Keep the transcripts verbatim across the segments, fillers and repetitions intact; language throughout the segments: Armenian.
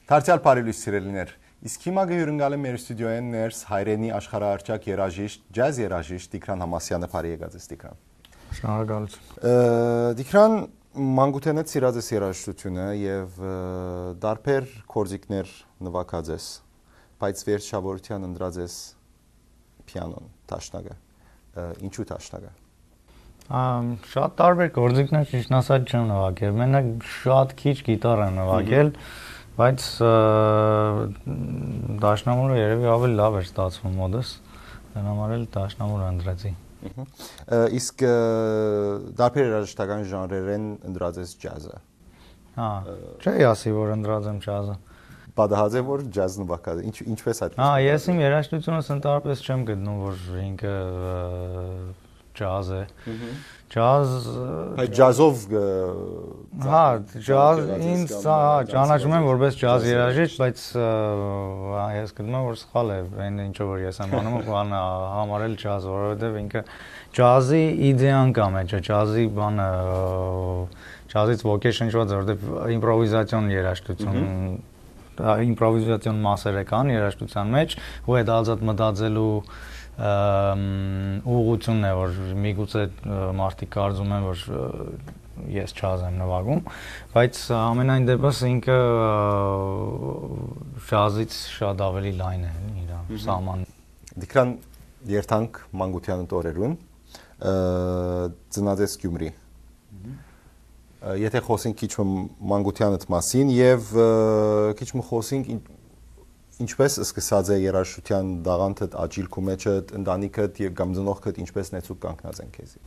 Դարձյալ բարելույս սիրելիներ, իսկ հիմա գյուրընկալեմ մեր ստուդիոյեն ներս հայրենի աշխարհահռչակ երաժիշտ, ջազ երաժիշտ Տիգրան Համասյանը, բարի եկած ես Տիգրան։ Շնորհակալություն։ Տիգրան, մանկութենից սիրած ես երաժշտությունը եւ դարբեր կորզիկներ նվագած ես, բայց վերջավորության ընտրած ես պիանոն, տաշնագը։ Ինչու տաշնագը։ Շատ տարբեր կորզիկներ ճիշտ ասած չեմ նվագել, մենակ շատ քիչ գիտար եմ նվագել, բայց դաշնամուրը երևի ավելի լավ էր ստացվում մոդս, դրա համար էլ դաշնամուրը ընտրեցի։ Իսկ դարբեր երաժշտական ժանրերեն ընտրած ես ջազը։ Հա, չի ասի, որ ընտրած եմ ջազը։ Պատահած է, որ ջազ նվագած, ինչպես այդ։ Հա, ես իմ երաժշտությունս ընդհանրապես չեմ գտնում, որ ինքը ջազ է։ Ջազ Այդ ջազով Հա, ջազ ինձ ճանաչում եմ որպես ջազ երաժիշտ, բայց ես գտնում եմ, որ սխալ է, այն ինչը որ ես եմ անում, բանը համարել ջազ, որովհետև ինքը ջազի իդեան կա մեջը, ջազի բանը ջազից ոգեշնչված է, որովհետև իմպրովիզացիոն երաժշտություն իմպրովիզացիոն մասեր կան երաժշտության մեջ, ու այդ ազատ մտածելու ուղղությունն է, որ միգուցե մարդիկ կարծում են, որ ես ջազ եմ նվագում, բայց ամենայն դեպս ինքը ջազից շատ ավելի լայն է իր սահմանը։ Տիգրան, երթանք մանկության օրերուն, ծնած ես Գյումրի։ Եթե խոսենք քիչ մանկությանդ մասին եւ քիչ խոսենք ինչպես սկսած է երաժշտության դաղանթդ աճիլ քու մեջդ ընտանիքդ եւ կամ ծնողքդ ինչպես նեցուկ կանգնած են քեզի։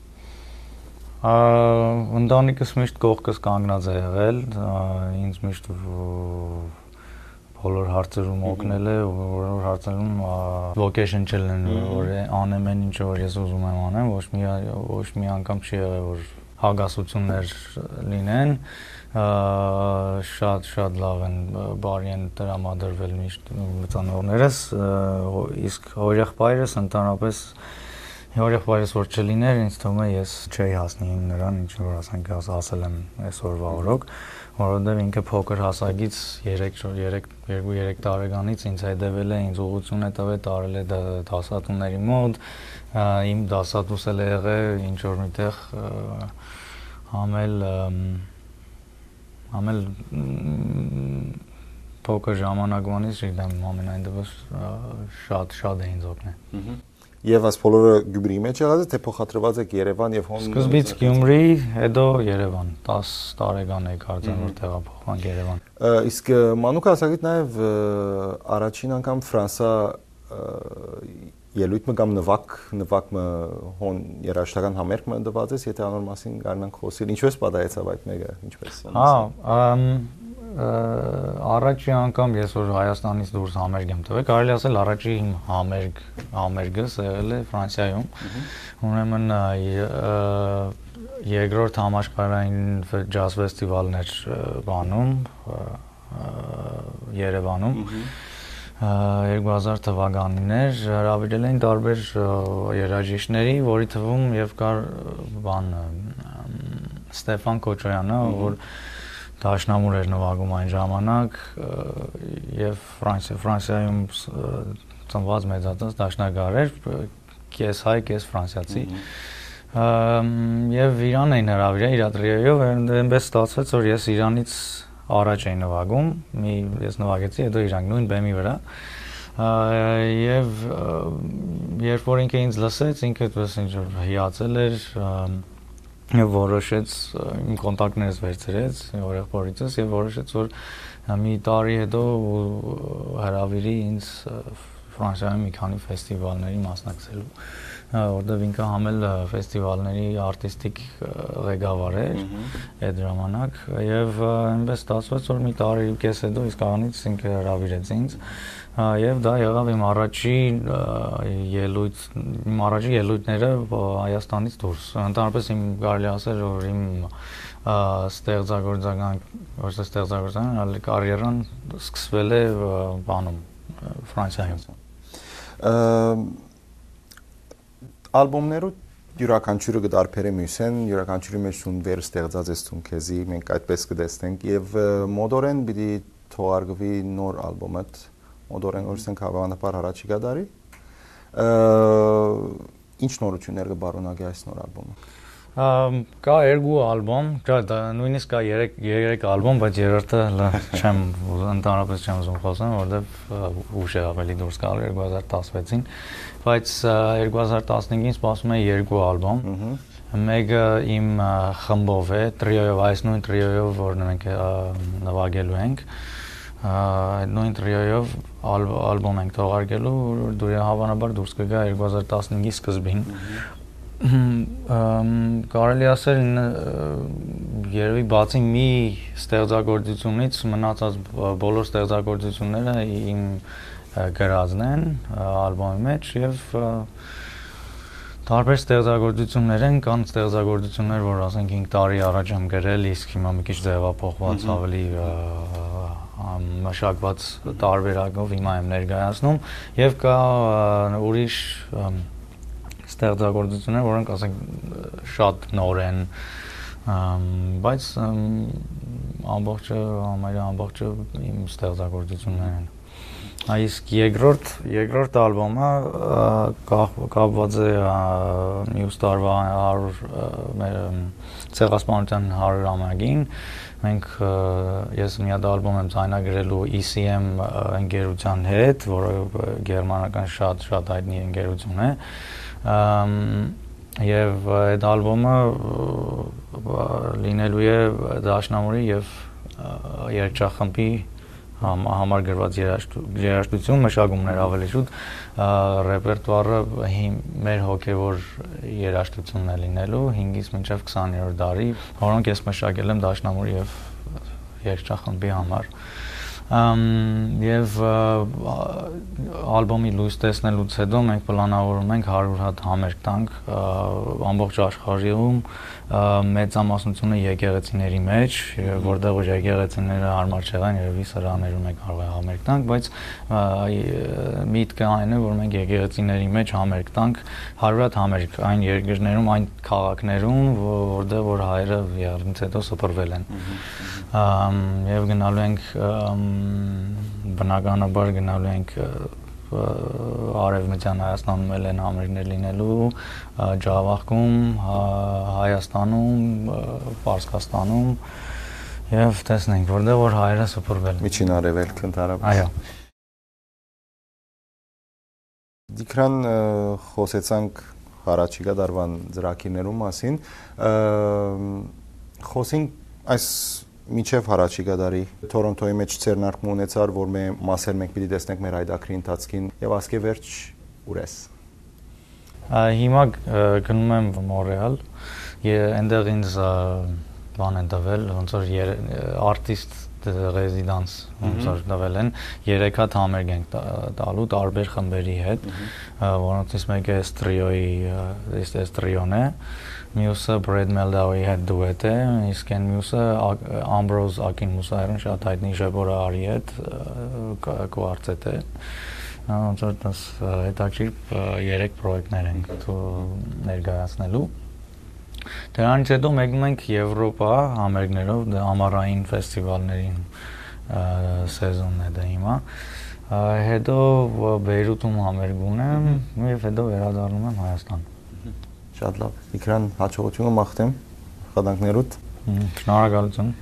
Ընտանիքս միշտ կողքս կանգնած է եղել, ինձ միշտ բոլոր հարցերում օգնել է, բոլոր հարցերում ոգեշնչել են, որ անեմ այն ինչը որ ես ուզում եմ անեմ, ոչ մի ոչ մի անգամ չի եղել որ հագասություններ լինեն, շատ շատ լավ են, բարի են տրամադրվել միշտ ծնողներս, իսկ հորեղբայրս ընդհանրապես հորեղբայրս որ չլիներ, ինձ թվում է ես չէի հասնի նրան, ինչ որ ասենք ասել եմ այսօրվա օրոք, որովհետև ինքը փոքր հասակից երկու երեք տարեկանից ինձ հետևել է, ինձ ուղղություն է տվել, տարել է դասատուների մոտ, իմ դասատուս էլ է եղել ինչ որ միտեղ համել համել փոքր ժամանակվանից իդեմ ամենայն դեպս շատ շատ է ինձ օգնել։ Եվ այս բոլորը Գյումրիի մեջ եղած է, թե փոխադրված եք Երևան եւ հոն։ Սկզբից Գյումրի, հետո Երևան, դաս տարեկան էի կարծեմ որ տեղափոխվանք Երևան։ Իսկ մանուկ հասակիդ նաեւ առաջին անգամ Ֆրանսա ելույթ մը կամ նվակ նվակը հոն երաժշտական համերգ մը դված ես, եթե անոր մասին կարողանանք խոսել, ինչպես պատահեցավ այդ մեկը, ինչպես։ Հա, առաջի անգամ ես որ Հայաստանից դուրս համերգ եմ տվել, կարելի ասել առաջի իմ համերգ համերգս եղել է Ֆրանսիայում։ Ուրեմն երկրորդ համաշխարհային ջազ ֆեստիվալներ բանում Երևանում երկու հազար թվականին էր, հրավիրել էին տարբեր երաժիշտների, որի թվում եւ կար բան Ստեփան Կոչոյանը, որ դաշնամուր էր նվագում այն ժամանակ եւ Ֆրանսիա Ֆրանսիայում ծնված մեծացած դաշնագար էր, կես հայ, կես ֆրանսիացի։ Եվ Իրան էին հրավիրել իր ատրիեով, այնպես ստացվեց, որ ես Իրանից առաջ էին նվագում, մի ես նվագեցի, հետո իրանք նույն բեմի վրա, եւ երբ որ ինքը ինձ լսեց, ինքը դες ինչ որ հիացել էր, եւ որոշեց իմ կոնտակտներս վերցրեց օրեղբորիցս եւ որոշեց որ մի տարի հետո հրավիրի ինձ Ֆրանսիայում մի քանի ֆեստիվալների մասնակցելու, որտեղ ինքը համել ֆեստիվալների արտիստիկ ղեկավար էր այդ ժամանակ եւ այնպես ստացվեց որ մի տարի կես հետո իսկականից ինքը հրավիրեց ինձ եւ դա եղավ իմ առաջին ելույթ իմ առաջին ելույթները Հայաստանից դուրս ընդհանրապես իմ կարելի ասել որ իմ ստեղծագործական ոչ թե ստեղծագործական այլ կարիերան սկսվել է բանում Ֆրանսիայում ալբոմներու յուրաքանչյուրը կդարբեր է մյուսեն, յուրաքանչյուրի մեջ ուն վեր ստեղծած ես ցուն քեզի, մենք այդպես կտեսնենք եւ մոդորեն պիտի թողարկվի նոր ալբոմդ մոդորեն օրսենք հավանաբար առաջիկա դարի ինչ նորություններ կբարունագի այս նոր ալբոմը Կա երկու ալբոմ, կա նույնիսկ կա երեք երեք ալբոմ, բայց երրորդը չեմ ընդհանրապես չեմ ուզում խոսեմ, որովհետև ուշ է ավելի դուրս գալ երկու հազար տասնվեցին, բայց երկու հազար տասնհինգին սպասում է երկու ալբոմ։ Մեկը իմ խմբով է, տրիոյով, այս նույն տրիոյով, որ մենք նվագելու ենք։ Այդ նույն տրիոյով ալբոմ ենք թողարկելու, որ հավանաբար դուրս կգա երկու հազար տասնհինգի սկզբին։ Կարելի ասել երևի բացի մի ստեղծագործությունից մնացած բոլոր ստեղծագործությունները իմ գրածն են ալբոմի մեջ եւ տարբեր ստեղծագործություններ են, կան ստեղծագործություններ, որ ասենք հինգ տարի առաջ եմ գրել, իսկ հիմա մի քիչ ձևափոխված ավելի մշակված տարբերակով հիմա եմ ներկայացնում եւ կա ուրիշ ստեղծագործություններ, որոնք ասենք շատ նոր են, բայց ամբողջը, համարյա ամբողջը իմ ստեղծագործություններ են։ Իսկ երկրորդ երկրորդ ալբոմը կապված է մյուս տարվա հարյուր մեր ցեղասպանության հարյուրամյակին։ Մենք ես մի հատ ալբոմ եմ ձայնագրելու E C M ընկերության հետ, որը գերմանական շատ շատ հայտնի ընկերություն է։ Եվ այդ ալբոմը լինելու է դաշնամուրի եւ երգչախմբի համար գրված երաժշտություն, մշակումներ ավելի շուտ ռեպերտուարը մեր հոգևոր երաժշտությունն է լինելու հինգից մինչև քսաներորդ դարի, որոնք ես մշակել եմ դաշնամուրի եւ երգչախմբի համար։ Եվ ալբոմի լույս տեսնելուց հետո մենք պլանավորում ենք հարյուր հատ համերգ տանք ամբողջ աշխարհում մեծամասնությունը եկեղեցիների մեջ, որտեղ որ եկեղեցիները հարմար չեղան, երևի սրաներում է կարող է համերգ տանք, բայց միտքը այն է, որ մենք եկեղեցիների մեջ համերգ տանք հարյուր հատ համերգ այն երկրներում, այն քաղաքներում, որտեղ որ հայերը եռնից հետո սփռվել են։ Եվ գնալու ենք բնականաբար գնալու ենք Արևմտյան Հայաստանում էլ են համերգներ լինելու, Ջավախքում, Հայաստանում, Պարսկաստանում եւ տեսնենք, որտեղ որ հայերը սփռվել են։ Միջին Արևելք ընդհանրապես։ Այո։ Դիքրան խոսեցանք առաջիկա դարվան ծրագիրներու մասին, խոսենք այս Միջև հարաճիգա դարի Թորոնտոյի մեջ ցերնարկում ունեցար, որ մենք մասեր մենք պիտի տեսնենք մեր այդակրի ընթացքին եւ ասկե վերջ ուրես։ Հիմա գնում եմ Մոնրեալ, այնտեղ ինձ բան են տվել, ոնց որ արտիստ ռեզիդանս ոնց որ տվել են, երեք հատ համերգ ենք տալու տարբեր խմբերի հետ, որոնցից մեկը Տրիոյի, այս Տրիոն է, մյուսը Brad Meldau-ի հետ դուետ է, իսկ այն մյուսը Ambrose Akin Musayarın շատ հայտնի Ժեբորա Արի հետ կվարտետ է։ Ոնց որ դες հետաքրքիր երեք պրոյեկտներ ենք ներկայացնելու։ Դրանից հետո մեկնում ենք Եվրոպա համերգներով, ամառային ֆեստիվալներին սեզոնն է դա հիմա։ Հետո Բեյրութում համերգ ունեմ եւ հետո վերադառնում եմ Հայաստան։ Շատ լավ։ Դիքրան հաջողությունը մաղթեմ խադանքներուդ։ Շնորհակալություն։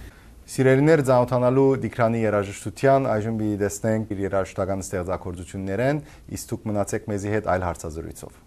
Սիրելիներ, ծանոթանալու Դիքրանի երաժշտության, այժմ մի տեսնենք իր երաժշտական ստեղծագործություններն, իսկ դուք մնացեք մեզի հետ այլ հարցազրույցով։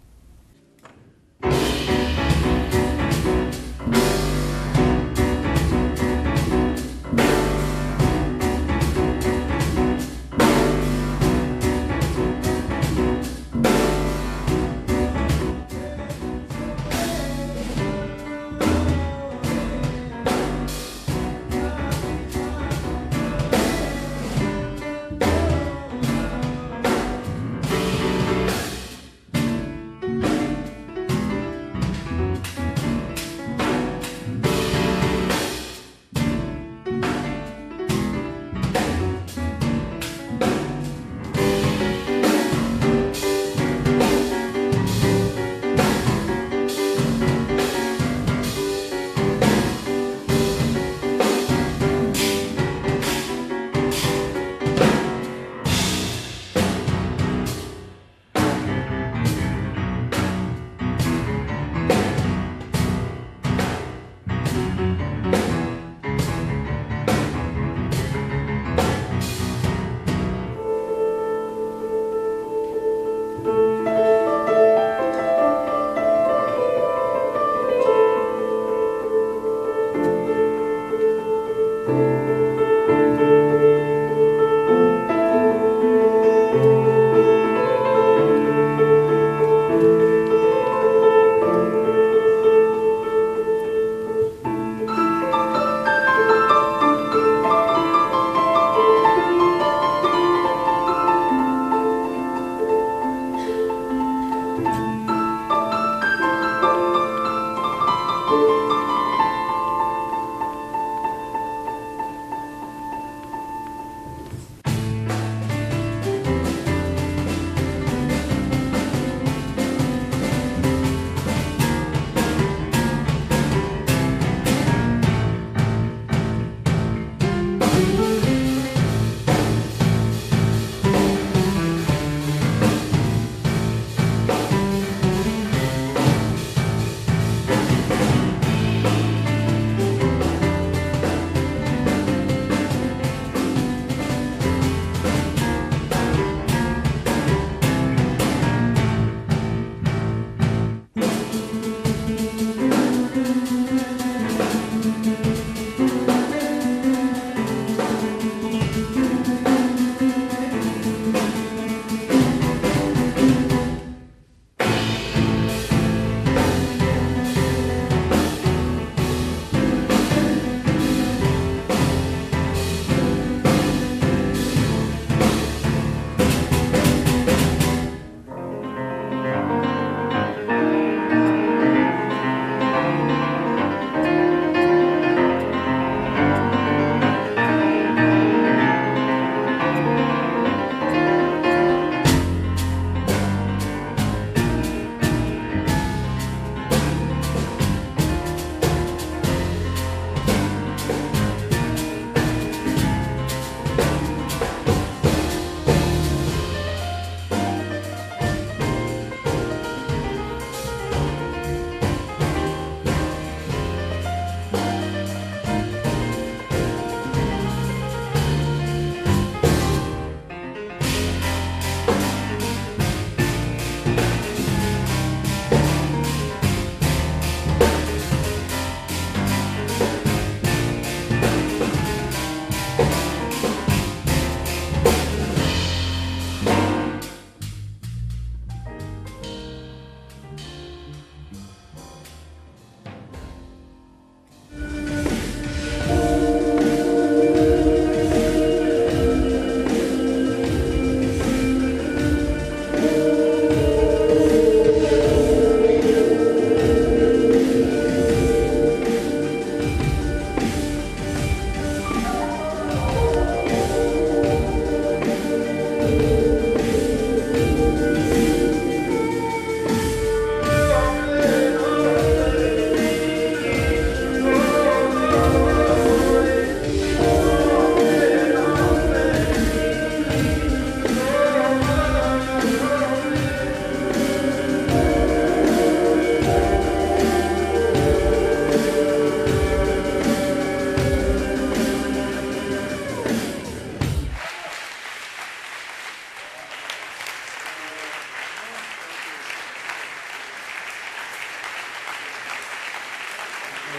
Նորայ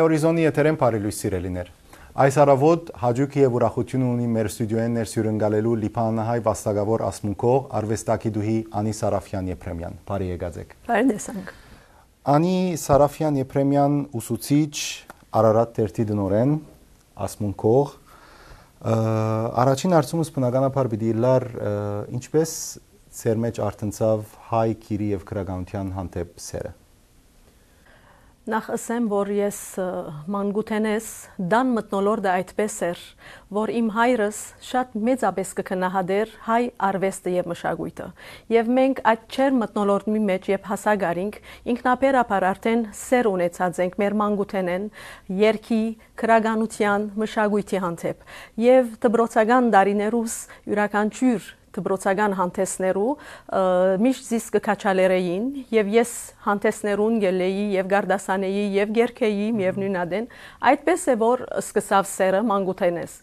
օրիզոնի եթերեն բարի սիրելիներ։ Այս առավոտ հաջուկ եւ ուրախություն ունի մեր ստուդիոյեն ներսյուրընկալելու լիբանանահայ վաստակավոր ասմունքող արվեստագետուհի Անի Սարաֆյան Եփրեմյան։ Բարի եկածեք։ Բարի տեսանք։ Անի Սարաֆյան Եփրեմյան ուսուցիչ, Արարատ Տերտի դնորեն, ասմունքող։ Առաջին հարցումս բնականաբար պիտի լար ինչպես ծեր մեջ արտնցավ հայ քիրի եւ քրագանության հանդեպ սերը։ Նախ ասեմ, որ ես մանկութենես դան մտնոլորդը այդպես էր, որ իմ հայրս շատ մեծապես կքնահատեր հայ արվեստը եւ մշակույթը։ Եվ մենք այդ չեր մտնոլորդի մեջ եւ հասագարինք ինքնաբերաբար արդեն սեր ունեցած ենք մեր մանկութենեն երգի, քրագանության, մշակույթի հանդեպ։ Եվ դպրոցական դարիներուս յուրաքանչյուր դպրոցական հանդեսներու միշտ զիս կքաչալերեին եւ ես հանդեսներուն գելեի եւ գարդասանեի եւ գերքեի եւ նույնադեն այդպես է որ սկսավ սերը մանկութենես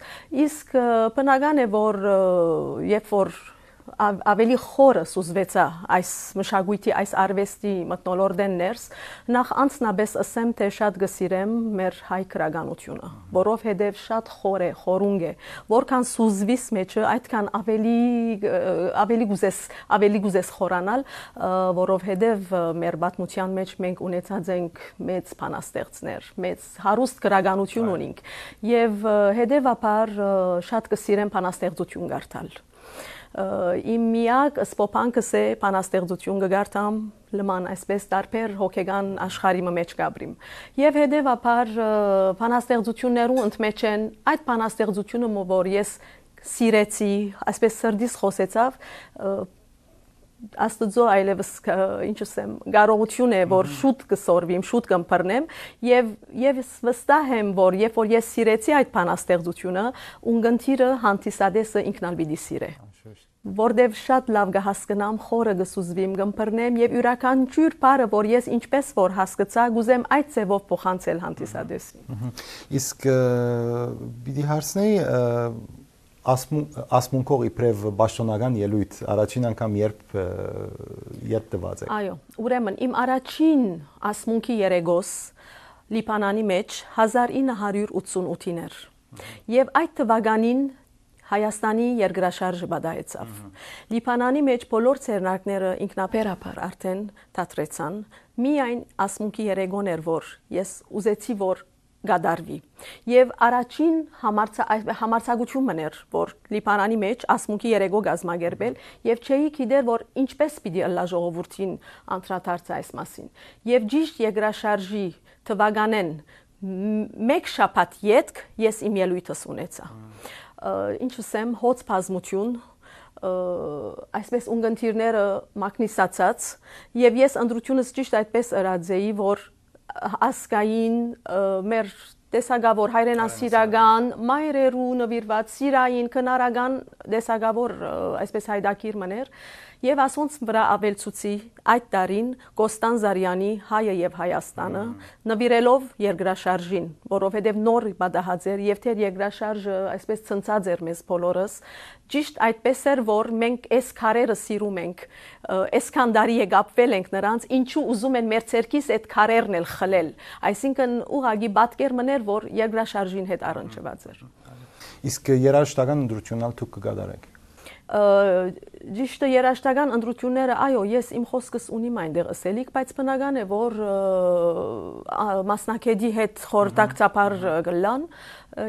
իսկ բնական է որ երբ որ ավելի խորը սուզվեցա այս մշակույթի այս արվեստի մտնոլորդեն ներս նախ անցնաբես ասեմ թե շատ գսիրեմ մեր հայ քրագանությունը որովհետև շատ խոր է խորունգ է որքան սուզվիս մեջը այդքան ավելի ավելի գուզես ավելի գուզես խորանալ որովհետև մեր պատմության մեջ մենք ունեցած ենք մեծ բանաստեղծներ մեծ հարուստ քրագանություն ունենք եւ հետեւաբար շատ գսիրեմ բանաստեղծություն գարթալ Իմ միակ սպոփանքս է բանաստեղծություն գարտամ լման այսպես տարբեր հոգեգան աշխարհի մեջ գաբրիմ եւ հետեւաբար բանաստեղծություններու ընդմեջ են այդ բանաստեղծությունը որ ես սիրեցի այսպես սրդիս խոսեցավ Աստծո այլևս ինչ ասեմ կարողություն է որ շուտ կսորվիմ շուտ կմփռնեմ եւ եւ վստահ եմ որ երբ որ ես սիրեցի այդ բանաստեղծությունը ունգընթիրը հանդիսադեսը ինքնալ պիտի սիրե որտեվ շատ լավ կհասկանամ խորը կսուզվիմ կմփռնեմ եւ յուրաքանչյուր բառը որ ես ինչպես որ հասկացա գուզեմ այդ ձևով փոխանցել հանդիսադեսին Իսկ պիտի հարցնեի ասմունքող իբրև պաշտոնական ելույթ առաջին անգամ երբ երբ տված է Այո ուրեմն իմ առաջին ասմունքի երեգոս Լիբանանի մեջ հազար ինը հարյուր ութսունութին էր եւ այդ թվականին Հայաստանի երկրաշարժը բադայեցավ։ Լիբանանի մեջ բոլոր ցերնակները ինքնաբերաբար արդեն դադրեցան։ Միայն ասմունքի երեգոն էր որ ես ուզեցի որ գադարվի։ Եվ առաջին համարձակությունն էր որ Լիբանանի մեջ ասմունքի երեգո գազմագերբել եւ չէի գիտեր որ ինչպես պիտի ըլլա ժողովրդին անդրադարձ այս մասին։ Եվ ճիշտ երկրաշարժի թվականեն մեկ շաբաթ յետք ես իմ ելույթս ունեցա։ Ինչ ասեմ հոց բազմություն այսպես ունգընթիրները մակնիսացած եւ ես ընդրությունս ճիշտ այդպես ըրաձեի որ ասկային մեր տեսակավոր հայրենասիրական մայրերու նվիրված սիրային քնարական տեսակավոր այսպես հայդակիր մներ եւ ասոնց վրա ավելցուցի այդ տարին Կոստան Զարյանի հայը եւ Հայաստանը նվիրելով երկրաշարժին որովհետեւ նոր բադահած էր եւ թեր երկրաշարժը այսպես ցնցած էր մեզ բոլորս ճիշտ այդպես էր որ մենք այս քարերը սիրում ենք այսքան դարի է գապվել ենք նրանց ինչու ուզում են մեր ցերքից այդ քարերն էլ խլել այսինքն ուղագի պատկեր մներ որ երկրաշարժին հետ առնչված էր Իսկ երաժշտական ընդրությունալ դուք կգադարեք Ճիշտը երաժշտական ընդրությունները այո ես իմ խոսքս ունիմ այնտեղ ասելիք բայց բնական է որ մասնակետի հետ խորհրդակցաբար գլան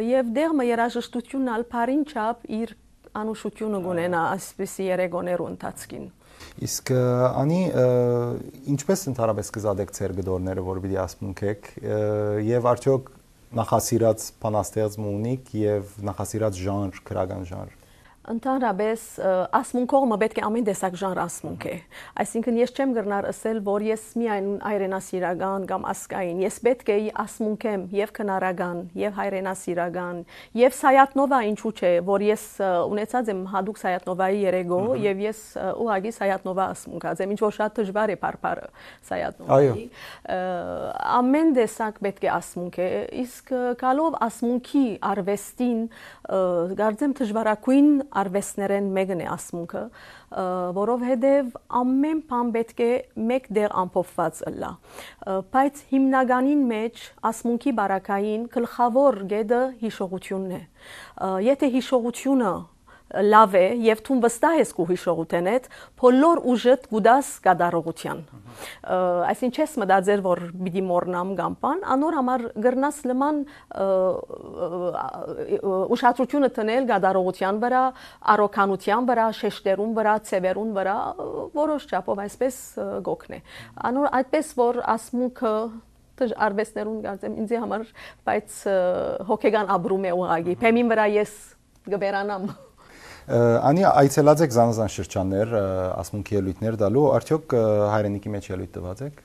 եւ դեղը երաժշտությունն ալ բարին չափ իր անուշությունը գունենա այսպիսի երեգոներու ընթացքին Իսկ անի ինչպես ընդհանրապես կզադեք ձեր գդորները որ պիտի ասմունքեք եւ արդյոք նախասիրած բանաստեղծում ունիք եւ նախասիրած ժանր քրական ժանր Ընդհանրապես ասմունքողը պետք է ամեն տեսակ ժանր ասմունք է այսինքն ես չեմ գրնար ասել որ ես միայն հայրենասիրական կամ ասկային ես պետք է ասմունքեմ եւ քնարական եւ հայրենասիրական եւ Սայատնովա ինչու՞ չէ որ ես ունեցած եմ հadouk Սայատնովայի երեգո եւ ես ուղագի Սայատնովա ասմունքած եմ ինչ որ շատ դժվար է բարբարը Սայատնովայի ամեն տեսակ պետք է ասմունք է իսկ գալով ասմունքի արվեստին գարձեմ դժվարակույն արվեստներեն մեկն է ասմունքը, որովհետև ամեն բան պետք է մեկ դեղ ամփոփված ըլլա։ Բայց հիմնականին մեջ ասմունքի բարակային գլխավոր գեդը հիշողությունն է։ Եթե հիշողությունը լավ է եւ դու վստահ ես քո հիշողութենեդ, բոլոր ուժդ գուդաս կդարողության։ Այսինքն չես մտածեր, որ պիտի մոռնամ կամ բան, անոր համար գրնաս լման ուշադրությունը տնել կդարողության վրա, առողջության վրա, շեշտերուն վրա, ցևերուն վրա, որոշ չափով այսպես գոքն է։ Անոր այդպես որ ասմունքը արվեստներուն կարծեմ ինձ համար, բայց հոգեգան ապրում է ուղագի։ Փեմին վրա ես գբերանամ։ Անի այցելած եք զանազան շրջաններ, ասմունքի ելույթներ դալու, արդյոք հայրենիքի մեջ ելույթ տված եք։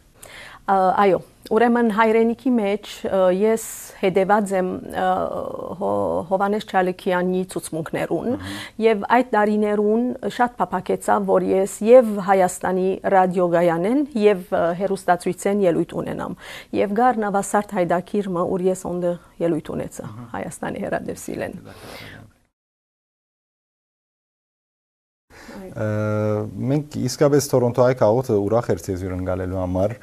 Այո, ուրեմն հայրենիքի մեջ ես հետևած եմ Հովանես Չալիկյանի ցուցմունքներուն եւ այդ տարիներուն շատ փափակեցավ, որ ես եւ Հայաստանի ռադիոգայանեն եւ հեռուստացույցեն ելույթ ունենամ։ Եվ գար Նավասարդ Հայդակիրը, ուր ես ոնդը ելույթ ունեցա Հայաստանի հեռադեպսիլեն։ Մենք իսկապես Թորոնտոյի քաղաքը ուրախ էր ցեզ յուրն գալելու համար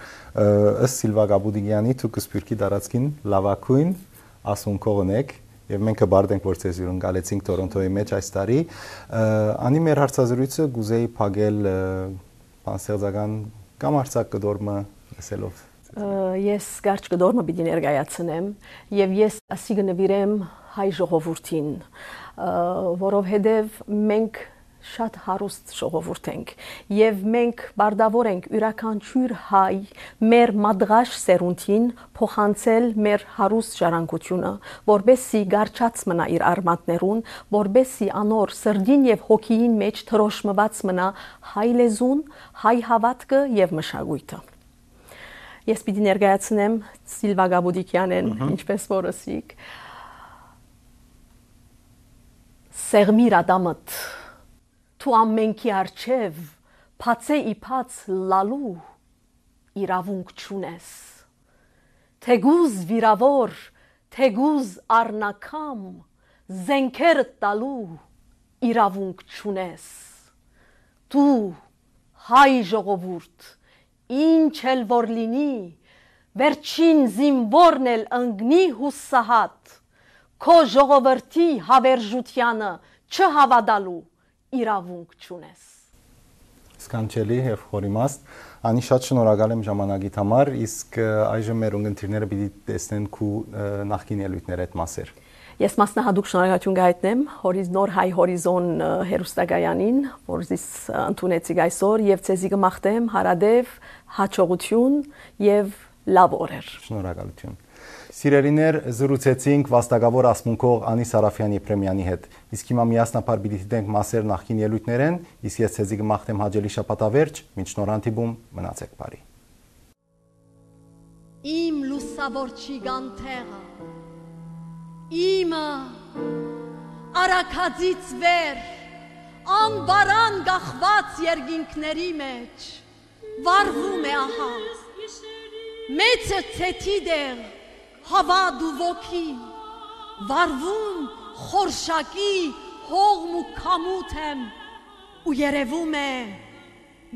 ըստ Սիլվա Գաբուդիգյանի դուք Սփյուռքի դարածքին լավակույն ասմունքողն եք եւ մենք կբարդենք որ ցեզ յուրն գալեցինք Թորոնտոյի մեջ այս տարի անի մեր հարցազրույցը գուզեի փակել բանսերձական կամ արցակ կդորմը լսելով ես կարճ կդորմը պիտի ներկայացնեմ եւ ես ասի կնվիրեմ հայ ժողովրդին որովհետեւ մենք շատ հարուստ ժողովուրդ ենք եւ մենք բարդավոր ենք յուրաքանչյուր հայ մեր մադղաշ սերունդին փոխանցել մեր հարուստ ժառանգությունը որբեսի գարչած մնա իր արմատներուն որբեսի անոր սրդին եւ հոգին մեջ թրոշմված մնա հայ լեզուն հայ հավատքը եւ մշակույթը ես պիտի ներկայացնեմ Սիլվա Գաբուդիկյանեն ինչպես որ ասիկ Սերմիր ադամդ Თუ ամենքի արջև փացե իփած լալու իրավունք չունես թեգուզ վիրավոր թեգուզ առնակամ զենքեր տալու իրավունք չունես դու հայ ժողովուրդ ինչ էլ որ լինի վերջին զինվորն էլ ընկնի հուսահատ քո ժողովրդի հավերժությանը չհավատալու իրավունք չունես Սկանչելի եւ խորիմաստ անի շատ շնորհակալ եմ ժամանակիդ համար իսկ այժմ մեր ունգընտիրները պիտի տեսնեն քու նախկին ելույթներ այդ մասեր Ես մասնահատուկ շնորհակալություն կհայտնեմ նոր հայ հորիզոն հեռուստակայանին որ զիս ընդունեցիք այսօր եւ ցեզի կմաղթեմ հարադեվ հաջողություն եւ լավ օրեր Շնորհակալություն Սիրելիներ զրուցեցինք վաստակավոր ասմունքող Անի Սարաֆյանի Պրեմյանի հետ։ Իսկ հիմա միասնապար պիտի դիտենք մասեր նախկին ելույթներեն, իսկ ես ցեզի կմաղթեմ հաջելի շաբաթավերջ, մինչ նոր հանդիպում մնացեք բարի։ Իմ լուսավոր չիգանթեղը, իմը արաքածից վեր, անբարան գախված երկինքների մեջ, վարվում է ահա, մեծը ցեթի դեղ, Հավադ ու ոգի, վարվում խորշակի հողմ ու կամութ եմ ու երևում է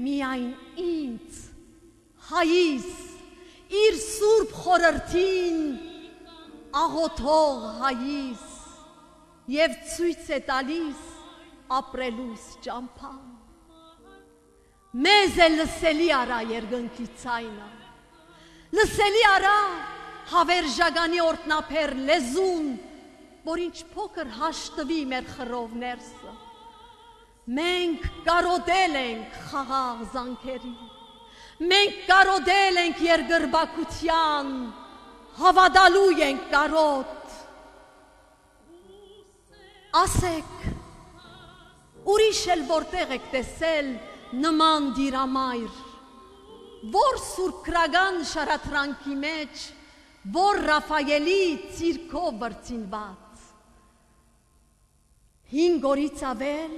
միայն ինձ, հայիս, իր սուրբ խորրթին, աղոթող հայիս և ցույց է տալիս ապրելուս ճամփան։ Մեզ է լսելի արա երկնքի ցայնը, լսելի արա հավերժագանի օրտնապեր լեզուն, որ ինչ փոքր հաշտվի մեր խռով ներսը։ Մենք կարոտել ենք խաղաղ զանքերի, մենք կարոտել ենք երգրբակության, հավատալու ենք կարոտ։ Ասեք, ուրիշ էլ որտեղ եք տեսել նման դիրամայր, որ սուրբ քրագան շարատրանքի մեջ որ Ռաֆայելի ցիրկով վրձինված հինգ օրից ավել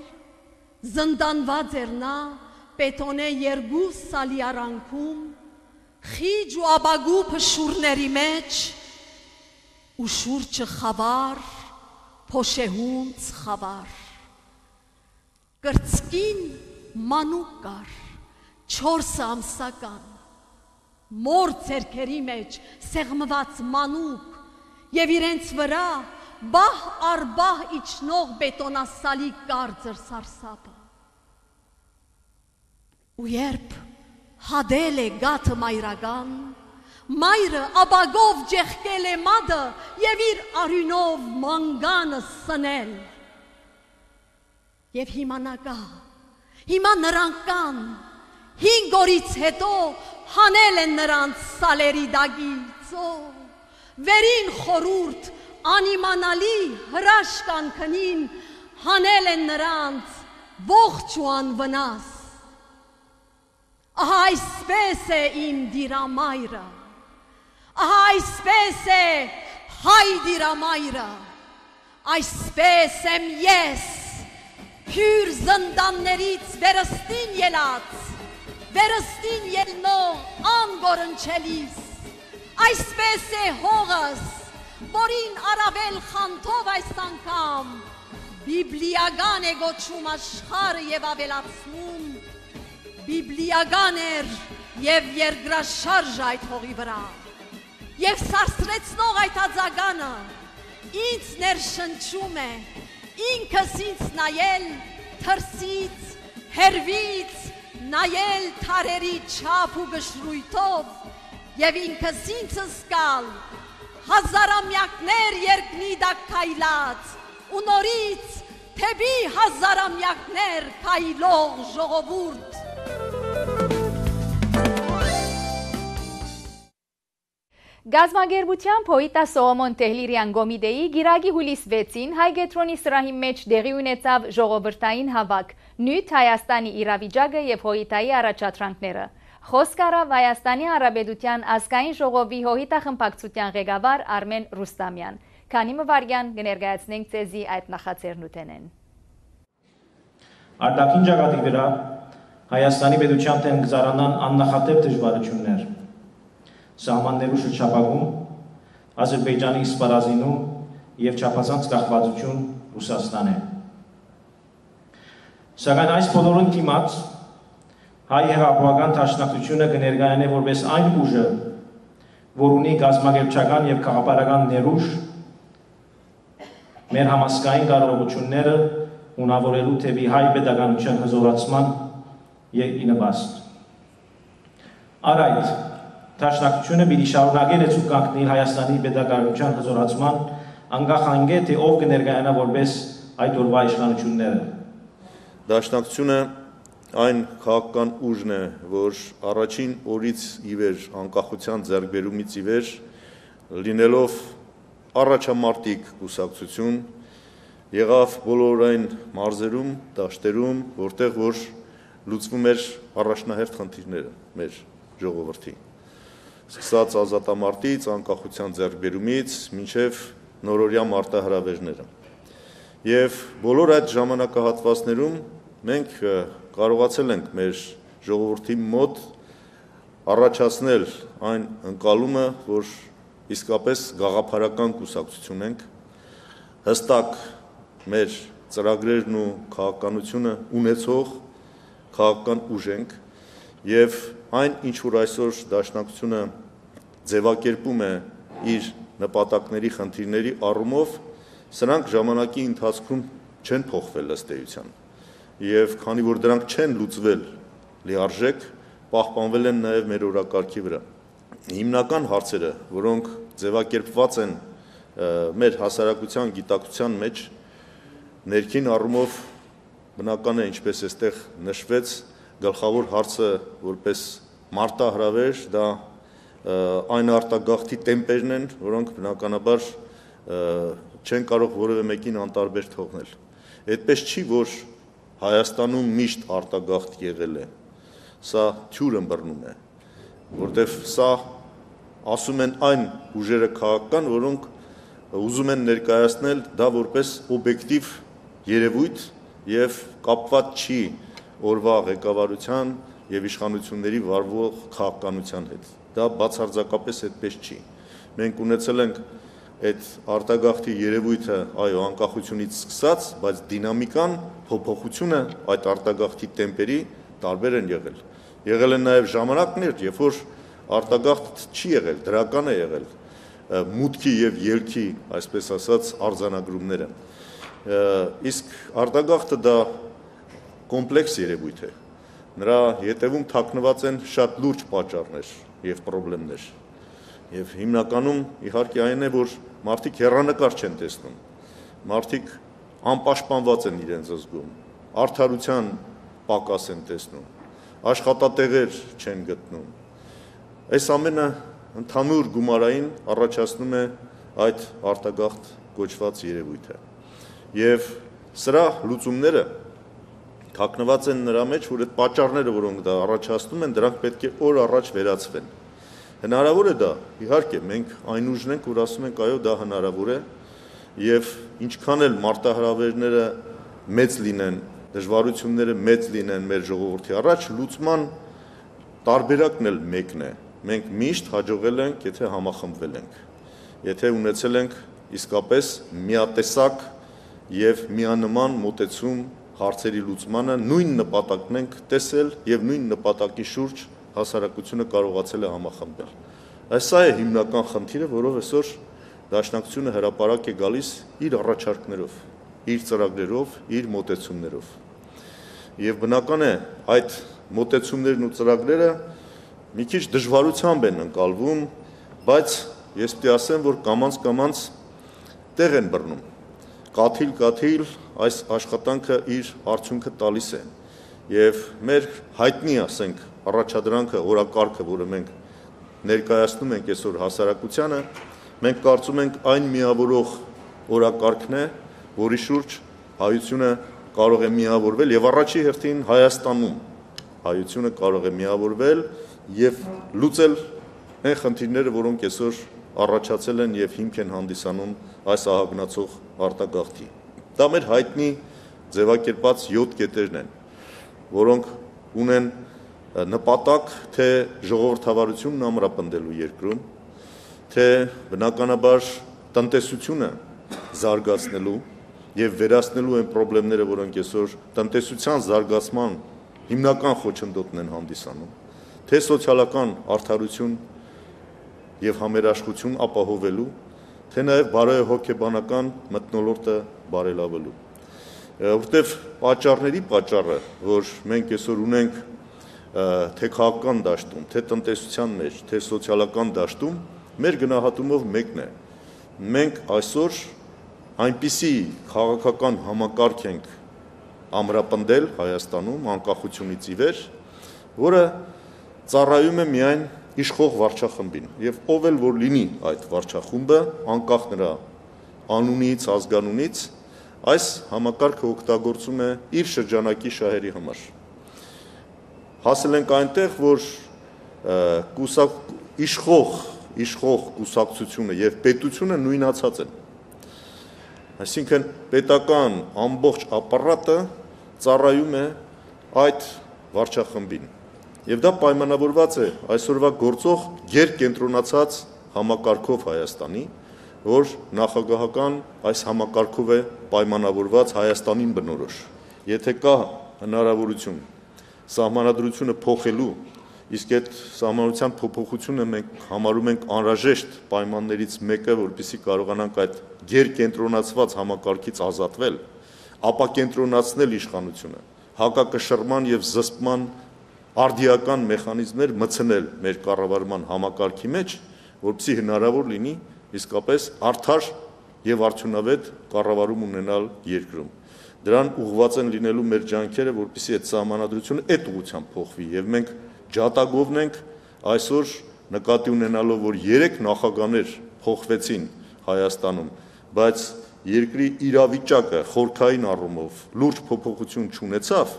զնդանված էր նա բետոնե երկու սալի արանքում խիջ ու աբագու փշուրների մեջ ու շուրջը խավար փոշեհունց խավար կրծքին մանուկ կար, չորս ամսական, մոր ձեռքերի մեջ սեղմված մանուկ եւ իրենց վրա բահ առ բահ իջնող բետոնասալի կարծր սարսափը։ Ու երբ հադել է գաթը մայրական, մայրը աբագով ջեղկել է մադը եւ իր արյունով մանգանը սնել։ Եվ հիմա նագա, հիմա նրանք կան, հինգ օրից հետո հանել են նրանց սալերի դագից, օ, վերին խորուրդ, անիմանալի հրաշքան քնին հանել են նրանց ողջ ու անվնաս։ Ահա այսպես է իմ դիրամայրը, ահա այսպես է հայ դիրամայրը, այսպես եմ ես, հյուր զնդաններից վերստին ելած, վերստին ելնող անգորնչելիս, այսպես է հողս, որին առավել խանթով այս անգամ բիբլիական է գոչում աշխարհը եւ ավելացնում, բիբլիական էր եւ երկրաշարժ այդ հողի վրա, եւ սարսրեցնող այդ ածագանը ինձ ներշնչում է, ինքս ինձ նայել թրսից, հերվից, նայել թարերի չափ ու գշրույթով եւ ինքս ինձ զգալ հազարամյակներ երկնի դակ քայլած ու նորից թեպի հազարամյակներ քայլող ժողովուրդ։ Գազագերբության փոյտա Սողոմոն Տեհլիրյան Գոմիդեի գիրագի հուլիս վեցին Հայգետրոնի սրահի մեջ դեղի ունեցավ ժողովրդային հավաք, նյութ Հայաստանի իրավիճակը եւ հոյիտայի առաջադրանքները։ Խոսք առավ Հայաստանի Հանրապետության ազգային ժողովի հոյիտա խմբակցության ղեկավար Արմեն Ռուստամյան։ Քանի մվարգյան կներկայացնենք ցեզի այդ նախաձեռնութենեն։ Արտաքին ճակատի վրա Հայաստանի պետության դեմ գզարանան աննախադեպ դժվարություններ։ Սահմաններու շրջապակում, Ադրբեջանի սպառազինում եւ չափազանց կախվածություն Ռուսաստան է։ Սակայն այս բոլորին դիմաց հայ հեղափոխական դաշնակցությունը կներկայանե որպես այն ուժը, որ ունի գազագերբչական եւ քաղաքական ներուժ մեր համասկային կարողությունները ունավորելու թեպի հայ պետականության հզորացման եւ ինվաստ։ Առ այդ Դաշնակցությունը պիտի շարունակի լեցու կանգնի Հայաստանի պետականության հզորացման անկախ անգե թե ով կներկայանա որպես այդ օրվա իշխանությունները։ Դաշնակցությունը այն քաղաքական ուժն է, որ առաջին օրից ի վեր անկախության ձեռքբերումից ի վեր լինելով առաջամարտիկ կուսակցություն եղավ բոլոր այն մարզերում, դաշտերում, որտեղ որ լուծվում էր առաջնահերթ խնդիրները մեր ժողովրդի։ Սկսած ազատամարտից, անկախության ձեռքբերումից, մինչև նորօրյա մարտահրավերները։ Եվ բոլոր այդ ժամանակահատվածներում մենք կարողացել ենք մեր ժողովրդի մոտ առաջացնել այն ընկալումը, որ իսկապես գաղափարական կուսակցություն ենք, հստակ մեր ծրագրերն ու քաղաքականությունը ունեցող քաղաքական ուժ ենք եւ այն ինչ որ այսօր դաշնակցությունը ձևակերպում է իր նպատակների խնդիրների առումով, սրանք ժամանակի ընթացքում չեն փոխվել ըստ էության։ Եվ քանի որ դրանք չեն լուծվել լիարժեք, պահպանվել են նաև մեր օրակարգի վրա։ Հիմնական հարցերը, որոնք ձևակերպված են մեր հասարակության գիտակցության մեջ, ներքին առումով բնական է, ինչպես այստեղ նշվեց, գլխավոր հարցը որպես մարտահրավեր, դա այն արտագաղթի տեմպերն են, որոնք բնականաբար չեն կարող որևէ մեկին անտարբեր թողնել։ Այդպես չի, որ Հայաստանում միշտ արտագաղթ եղել է, սա թյուր ըմբռնում է, որտեղ սա ասում են այն ուժերը քաղաքական, որոնք ուզում են ներկայացնել դա որպես օբյեկտիվ երևույթ եւ կապված չի օրվա ղեկավարության եւ իշխանությունների վարվող քաղաքականության հետ։ Դա բացարձակապես այդպես չի։ Մենք ունեցել ենք այդ արտագաղթի երևույթը այո անկախությունից սկսած, բայց դինամիկան, փոփոխությունը այդ արտագաղթի տեմպերի տարբեր են եղել։ Եղել են նաև ժամանակներ, երբ որ արտագաղթ չի եղել, դրական է եղել մուտքի եւ ելքի, այսպես ասած, արձանագրումները։ Իսկ արտագաղթը դա կոմպլեքս երևույթ է։ Նրա ետևում թաքնված են շատ լուրջ պատճառներ եւ խնդիրներ։ Եվ հիմնականում իհարկե այն է, որ մարդիկ հեռանկար չեն տեսնում, մարդիկ անպաշտպանված են իրենց զգում, արդարության պակաս են տեսնում, աշխատատեղեր չեն գտնում։ Այս ամենը ընդհանուր գումարային առաջացնում է այդ արտագաղթ կոչված երևույթը։ Եվ սրա լուծումները թաքնված են նրա մեջ, որ այդ պատճառները, որոնք դա առաջացնում են, դրանք պետք է օր առաջ վերացվեն։ Հնարավոր է դա, իհարկե, մենք այն ուժն ենք, որ ասում ենք, այո, դա հնարավոր է, եւ ինչքան էլ մարտահրավերները մեծ լինեն, դժվարությունները մեծ լինեն մեր ժողովրդի առաջ, լուծման տարբերակն էլ մեկն է։ Մենք միշտ հաջողել ենք, եթե համախմբվել ենք, եթե ունեցել ենք իսկապես միատեսակ եւ միանման մոտեցում հարցերի լուծմանը, նույն նպատակն ենք տեսել եւ նույն նպատակի շուրջ հասարակությունը կարողացել է համախմբել։ Այս է հիմնական խնդիրը, որով այսօր Դաշնակցությունը հրապարակ է գալիս իր առաջարկներով, իր ծրագրերով, իր մոտեցումներով։ Եվ բնական է այդ մոտեցումներն ու ծրագրերը մի քիչ դժվարությամբ են ընկալվում, բայց ես պետք է ասեմ, որ կամաց-կամաց տեղ են բռնում։ Կաթիլ-կաթիլ այս աշխատանքը իր արդյունքը տալիս է։ Եվ մեր հայտնի, ասենք, առաջադրանքը, օրակարգը, որը մենք ներկայացնում ենք այսօր հասարակությանը, մենք կարծում ենք այն միավորող օրակարգն է, որի շուրջ հայությունը կարող է միավորվել եւ առաջի հերթին Հայաստանում հայությունը կարող է միավորվել եւ լուծել այն խնդիրները, որոնք այսօր առաջացել են եւ հիմք են հանդիսանում այս ահագնացող արտագաղթի։ Դա մեր հայտնի ձևակերպած յոթ կետերն են, որոնք ունեն նպատակ թե ժողովրդավարությունն ամրապնդելու երկրում, թե բնականաբար տնտեսությունը զարգացնելու եւ վերացնելու այն խնդիրները, որոնք այսօր տնտեսության զարգացման հիմնական խոչընդոտն են հանդիսանում, թե սոցիալական արդարություն եւ համերաշխություն ապահովելու, թե նաեւ բարոյահոգեբանական մթնոլորտը բարելավելու։ Որտեւ պատճառների պատճառը, որ մենք այսօր ունենք թե քաղաքական դաշտում, թե տնտեսության մեջ, թե սոցիալական դաշտում, մեր գնահատումով մեկն է։ Մենք այսօր այնպիսի քաղաքական համակարգ ենք ամրապնդել Հայաստանում անկախությունից ի վեր, որը ծառայում է միայն իշխող վարչախմբին, եւ ով էլ որ լինի այդ վարչախումբը, անկախ նրա անունից, ազգանունից, այս համակարգը օգտագործում է իր շրջանակի շահերի համար։ Հասել ենք այնտեղ, որ կուսակ իշխող, իշխող կուսակցությունը եւ պետությունը նույնացած են։ Այսինքն պետական ամբողջ ապարատը ծառայում է այդ վարչախմբին։ Եվ դա պայմանավորված է այսօրվա գործող գերկենտրոնացած համակարգով Հայաստանի, որ նախագահական այս համակարգով է պայմանավորված Հայաստանին բնորոշ։ Եթե կա հնարավորություն սահմանադրությունը փոխելու, իսկ այդ սահմանության փոփոխությունը մենք համարում ենք անհրաժեշտ պայմաններից մեկը, որպեսզի կարողանանք այդ գերկենտրոնացված համակարգից ազատվել, ապակենտրոնացնել իշխանությունը, հակակշռման եւ զսպման արդիական մեխանիզմներ մտցնել մեր կառավարման համակարգի մեջ, որպեսզի հնարավոր լինի իսկապես արդար եւ արդյունավետ կառավարում ունենալ երկրում։ Դրան ուղղված են լինելու մեր ջանքերը, որպեսզի այդ սահմանադրությունը այդ ուղղությամբ փոխվի եւ մենք ջատագովն ենք այսօր նկատի ունենալով, որ երեք նախագահներ փոխվեցին Հայաստանում, բայց երկրի իրավիճակը խորքային առումով լուրջ փոփոխություն չունեցավ,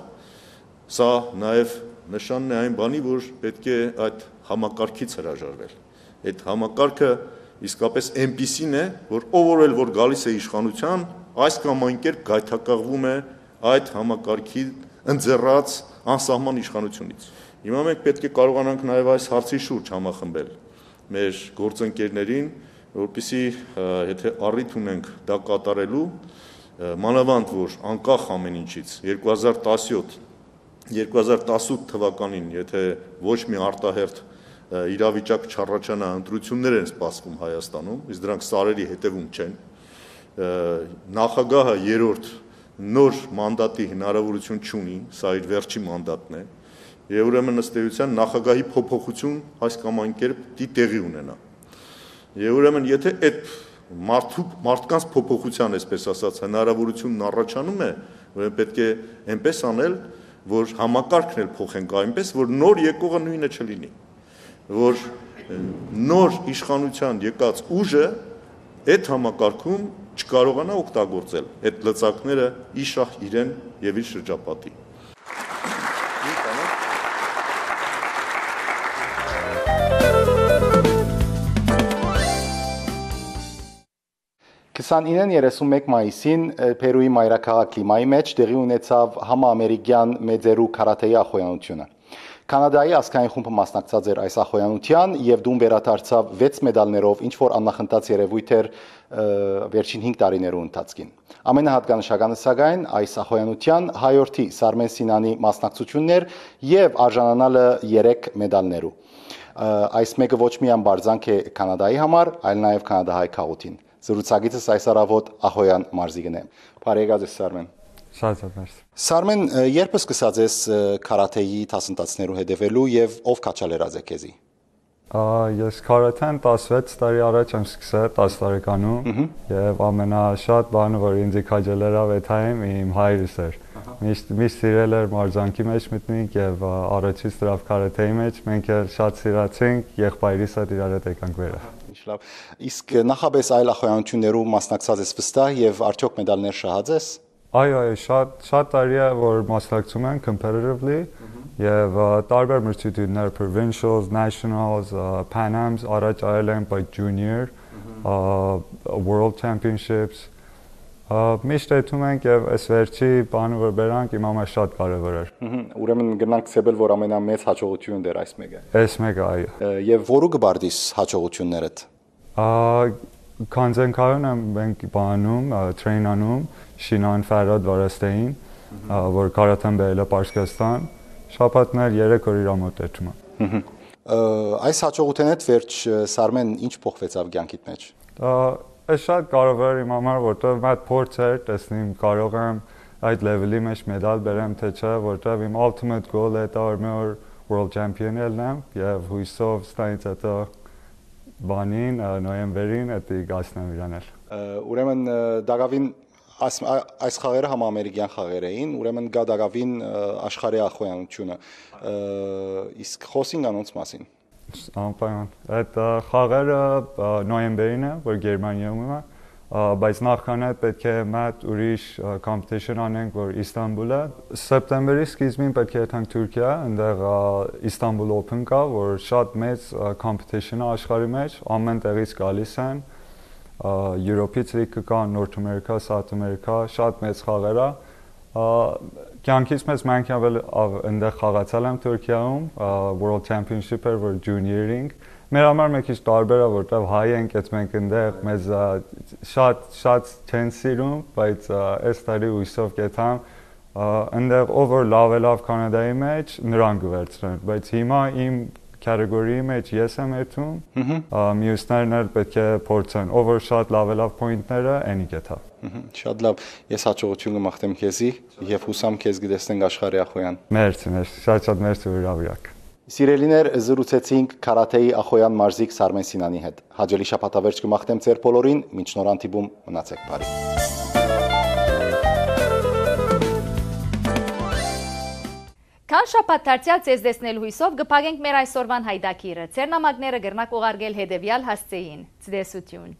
սա նաեւ նշանն է այն բանի, որ պետք է այդ համակարգից հրաժարվել։ Այդ համակարգը իսկապես այնպիսին է, որ ով էլ որ գալիս է իշխանության, այս կամ այն կերպ գայթակղվում է այդ համակարգի ընձեռած անսահման իշխանությունից։ Հիմա մենք պետք է կարողանանք նաև այս հարցի շուրջ համախմբել մեր գործընկերներին, որպեսզի եթե առիթ ունենք դա կատարելու, մանավանդ որ անկախ ամեն ինչից երկու հազար տասյոթ երկու հազար տասութ թվականին, եթե ոչ մի արտահերթ իրավիճակ չառաջանա, ընտրություններ են սպասվում Հայաստանում, իսկ դրանք սարերի հետևում չեն, նախագահը երրորդ նոր մանդատի հնարավորություն չունի, սա իր վերջի մանդատն է, եւ ուրեմն ըստ էության նախագահի փոփոխություն այս կամ այն կերպ դի տեղի ունենա։ Եվ ուրեմն եթե այդ մարդու մարդկանց փոփոխության, այսպես ասած, հնարավորությունն առաջանում է, ուրեմն պետք է այնպես անել, որ համակարգն էլ փոխենք այնպես, որ նոր եկողը նույնը չլինի, որ նոր իշխանության եկած ուժը այդ համակարգում չկարողանա օգտագործել այդ լծակները իշահ իրեն եւ իր շրջապատի։ քսանինը երեսունմեկ մայիսին Պերուի մայրաքաղաք Լիմայի մեջ տեղի ունեցավ համաամերիկյան մեծերու քարաթեի ախոյանությունը։ Կանադայի ազգային խումբը մասնակցած էր այս ախոյանության եւ դուն վերադարձավ վեց մեդալներով, ինչ որ աննախընթաց երևույթ էր վերջին հինգ տարիներու ընթացքին։ Ամենահատկանշականը սակայն այս ախոյանության հայորդի Սարմեն Սինանի մասնակցությունն էր եւ արժանանալը երեք մեդալներու։ Այս մեկը ոչ միայն բարձանք է Կանադայի համար, այլ նաեւ կանադահայ քաղաքին։ Զրուցակիցս այս առավոտ Ախոյան մարզիկն է։ Բարեկարգ ես Սարմեն։ Շատ շատ մերսի։ Սարմեն, երբ սկսած ես քարաթեի դասընթացներու հետևելու եւ ով քաչալերած է քեզի։ Ես քարաթեն տասվեց տարի առաջ եմ սկսել տասը տարեկանում եւ ամենաշատ բանը որ ինձ քաջալերավ այդ այն իմ հայրս էր։ Միշտ միշտ սիրել էր մարզանքի մեջ մտնենք եւ առաջից դրավ քարաթեի մեջ մենք էլ շատ սիրացինք, եղբայրիս հետ իրար հետ եկանք վերա։ Լավ։ Իսկ նախաբես այլ ախոյանություններու մասնակցած ես վստահ եւ արդյոք մեդալներ շահած ես։ Այո, այո, շատ շատ տարի է որ մասնակցում են competitively եւ տարբեր մրցույթներ provincials, nationals, Pan Ams, առաջ արել են by junior, world championships։ Միշտ այդում ենք եւ այս վերջի բանը որ բերանք իմ համար շատ կարեւոր էր։ Ուրեմն գնանք ցեբել որ ամենամեծ հաջողություն դեր այս մեկը։ Այս մեկը այո։ Եվ որու կբարդիս հաջողություններդ։ Քանձենքարն եմ մենք բանում, տրեյնանում, Շինան Ֆարադ Վարաստեին, որ կարաթեն բերել է Պարսկաստան, շաբաթներ երեք օր իր մոտ էջում է։ Այս հաջողությունից վերջ Սարմեն ինչ փոխվեցավ կյանքիդ մեջ։ Այս շատ կարևոր է իմ համար, որտեղ մատ փորձ էր, տեսնեմ կարող եմ այդ լեվելի մեջ մեդալ բերեմ թե չէ, որտեղ իմ ultimate goal-ը դա որ world champion ելնեմ եւ հույսով ստայից հետո բանին նոյեմբերին էդի գասնեմ իրանել։ Ուրեմն դակավին այս այս խաղերը համաամերիկյան խաղեր էին, ուրեմն գա դակավին աշխարհի ախոյանությունը։ Իսկ խոսին անոնց մասին։ Անպայման։ Այդ խաղերը նոյեմբերին է, որ Գերմանիայում է, բայց նախքան այդ պետք է մատ ուրիշ competition անենք, որ Իստանբուլը, սեպտեմբերի սկիզբին պետք է եթանք Թուրքիա, այնտեղ Istanbul Open կա, որ շատ մեծ competition է աշխարհի մեջ, ամեն տեղից գալիս են, Europe-ից լիքը կա, North America, South America, շատ մեծ խաղեր է։ Կյանքից մեծ մենք ավել այնտեղ խաղացել եմ Թուրքիայում, World Championship-ը, որ junior-ing Մեր համար մեկ քիչ տարբեր է, որտեղ հայ ենք, այդ մենք այնտեղ մեզ շատ շատ չեն սիրում, բայց այս տարի հույսով կեթամ այնտեղ ով որ լավ է լավ Կանադայի մեջ նրան կվերցնեն, բայց հիմա իմ category-ի մեջ ես եմ էթում, մյուսներն էլ պետք է փորձեն, ով որ շատ լավ է լավ point-ները, այնի կեթա։ Շատ լավ, ես հաջողություն կմաղթեմ քեզի եւ հուսամ քեզ կտեսնենք աշխարհի ախոյան։ Մերսի, մերսի, շատ շատ մերսի հրավիրակ։ Սիրելիներ, զրուցեցինք քարաթեի ախոյան մարզիկ Սարմեն Սինանի հետ։ Հաջելի շաբաթավերջ կմաղթեմ ձեր բոլորին, մինչ նոր հանդիպում մնացեք բարի։ Քան շաբաթ դարձյալ ձեզ տեսնելու հույսով կփակենք մեր այսօրվան հայդակիրը։ Ձեր նամակները գրնակ ուղարկել հետևյալ հասցեին։ Ցտեսություն։